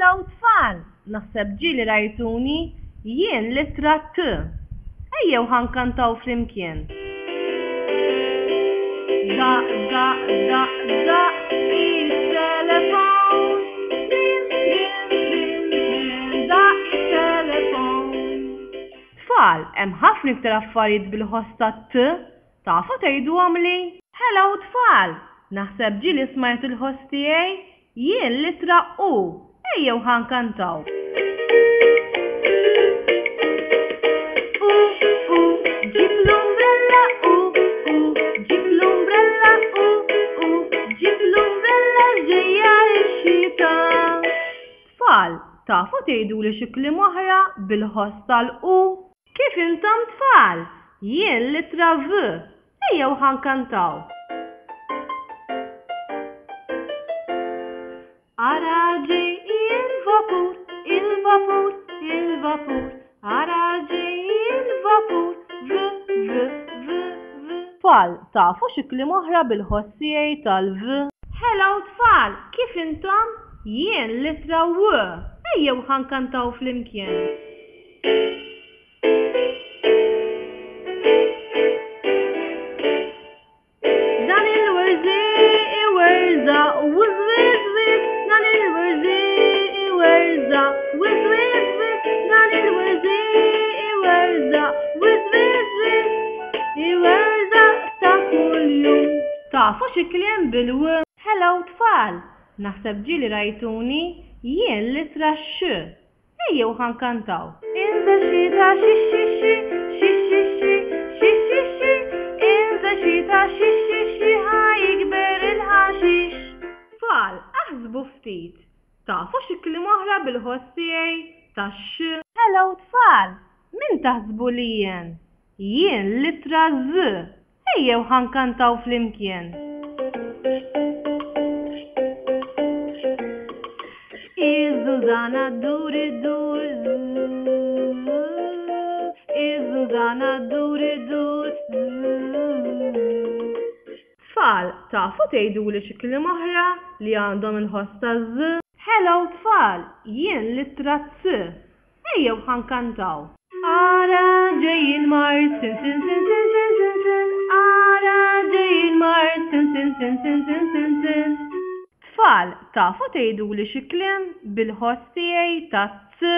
Hello tfal! Naħseb ġieli rajtuni, jien l-ittra T. Ejjew ħa nkantaw flimkien. Daqq daqq daqq daqq it-telefon. Trin trin trin trin daqq it-telefon. Tfal, hemm ħafna iktar affarijiet bil-ħoss tat-T. Tafu tgħiduhomli? Hello tfal! Naħseb ġieli smajtu l-ħoss tiegħi? Jien l-ittra U. Ejjew ħa nkantaw. U, U, ġib l-umbrella U, U, ġib l-umbrella U, U, ġib l-umbrella ġejja x-xita. Tfal, tafu tgħiduli xi kliem oħra bil-ħoss tal-U? Kif intom tfal? Jien l-ittra V. Ejjew ħa nkantaw. Ara ġej il-vapur, il-vapur, il-vapur. Ara ġej il-vapur, V, V, V, V. Tfal, tafu xi kliem oħra bil-ħoss tiegħi tal-V? Hello tfal, kif intom? Jien l-ittra W. Ejjew ħa nkantaw flimkien. Dan il-werżi iwerża, wiz wiz wiz, dan il-werżi iwerża, wiz wiz wiz, dan il-werżi iwerża, wiz wiz wiz, iwerża ta' kuljum. Tafu xi kliem bil-w? Hello tfal! Naħseb ġieli rajtuni, jien l-ittra x. Ejjew ħa nkantaw. Inżel xita xi xi xi, xi xi xi, xi xi xi, inżel xita xi xi xi ħa jikber il-ħaxix. Tfal, aħsbu ftit. Tafu xi kliem oħra bil-ħoss tiegħi tax-x? Hello tfal! Min taħsbu li jien? Jien l-ittra Z. Ejjew ħa nkantaw flimkien. Iż-żużana ddur iddur Iż-żużana ddur iddur Tfal, tafu tgħiduli xi kliem oħra li għandhom il-ħoss taż-z? Hello tfal, jien l-ittra C. Ejjew ħa nkantaw. Ara ġej il-mard sin sin sin sin sin sin sin Ara ġej il-mard sin sin sin sin sin sin sin Tfal, tafu tgħiduli xi kliem bil-ħoss tiegħi ta' t?